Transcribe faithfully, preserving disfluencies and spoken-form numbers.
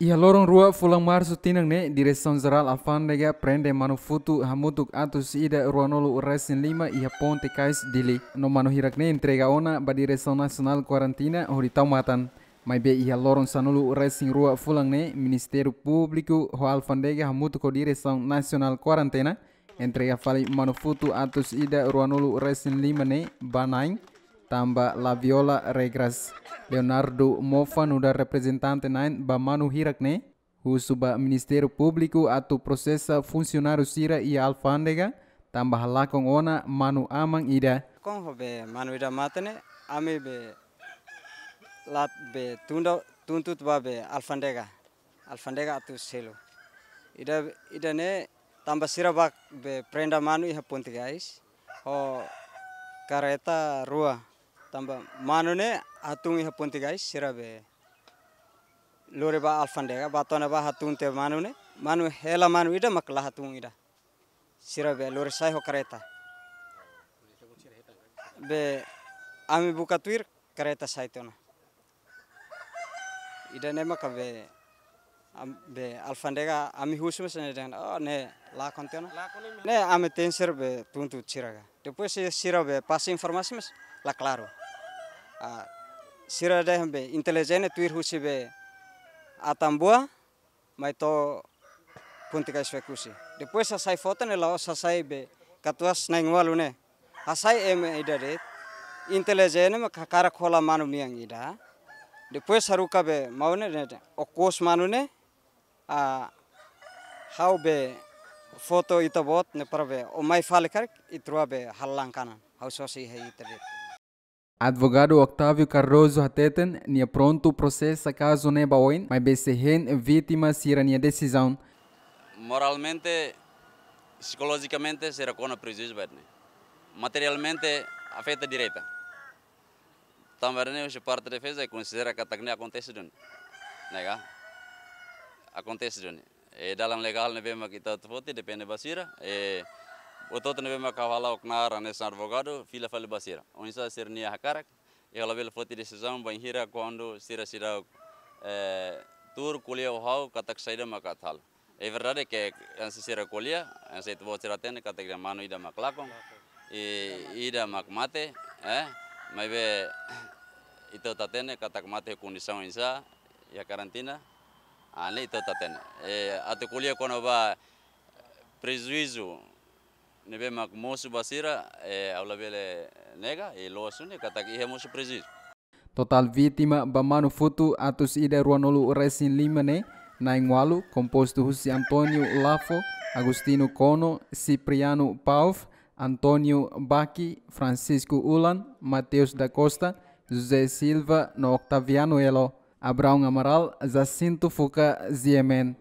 Iha loron rua fulan Marsu tinan ne'e, Diresaun Jerál Alfándega prende manu futu hamutuk atus ida ruanulu resin lima iha ponte kais Dili. No manu hirak ne'e entrega ona ba Diresaun Nasionál Kuarentina hodi tau matan. Maibé iha loron sanulu resin rua fulan ne'e, Ministériu Públiku ho Alfándega hamutuk ho Diresaun Nasionál Kuarentena entrega fali manu futu atus ida ruanulu resin lima ne'e ba na'in, tanba la viola regras. Leonardo Mofa nu'udar reprezentante na'in ba manu hirak ne'e, husu ba Ministériu Públiku atu prosesa funsionáriu sira iha Alfándega, tanba halakon ona manu aman ida. Kon ho be manu ida mate ne'e, ami be lat be tunda tuntut ba be Alfándega. Alfándega atu selu. Ida, ida ne'e tanba sira bá be prenda manu iha ponte kais. Ho kareta rua. Tanba manu ne'e hatun iha ponte kais, sira be lori ba Alfándega, bá to'o ne'ebá hatun tiha manu ne'e. Manu hela manu ida mak la hatun ida. Sira be lori sai ho kareta. Be ami buka tuir kareta sai tiha ona. Ida ne'e maka be, am-, be Alfándega ami husu mós ne'e dehan, oh, ne'e lakon tiha ona. Ne'e ami tenke sira be tuntut sira ka. Depois se sira be pasa informasi mós la klaru. Ah, sira dehan be intelijen ne'e tuir husi be Atambua, mai to'o ponte kais Oekusi. Depois hasai foto ne'e la'ós hasai be katuas na'in-ualu ne'e. Hasai ema ida de'it. Intelijen ne'e mak hakarak hola manu nian ida. Depois haruka be maun ne'e, ne'e, ne'e. Okos manu ne'e. Ah, ha'u be foto ita-boot ne'e para be ó mai fali karik ita rua be halo langkanan. Ha'u sosa iha ita de'it. Advogadu Octavio Cardoso hateten nia prontu prosesa kazu ne'e ba oin, maibé sei hein vítima sira-nia desizaun. Moralmente, psikolojikamente, sira kona prejuízu ba ita-nia. Materialmente, afeta direta. Tanba ne'e, husi parte defeza, konsidera katak ne'e akontese duni. Ne'e ka? Akontese duni. E dalan legál ne'ebé mak ita atu foti depende ba sira. E, buat hotu ne'ebé mak ha'u hala'o knaar hanesan advogadu, fila fali ba sira. Oinsá sira-nia hakarak, e ha'u labele foti desizaun bainhira kuandu sira seidauk, e, tuur ko'alia ho ha'u katak saida mak atu halo. É verdade ke hanesan sira ko'alia, hanesan ita-boot sira hatene katak ida manu ida mak lakon, i ida mak mate, e, maibé ita hotu hatene katak mate kondisaun oinsá, iha karantina, ah, ne'e ita hotu hatene. E, atu ko'alia kona-ba prejuízu ne'ebé mak mosu ba sira, e, ha'u labele nega, e, loos duni katak iha mosu prejuízu. Totál vítima ba manu futu atus ida ruanulu resin lima ne'e, na'in-ualu, kompostu husi António Lafo, Agostinho Kono, Cipriano Pauv, António Baki, Francisco Ulan, Mateus da Costa, José Silva no Octaviano Elo. Abraão Amaral, Jacinto Fuca, G M N.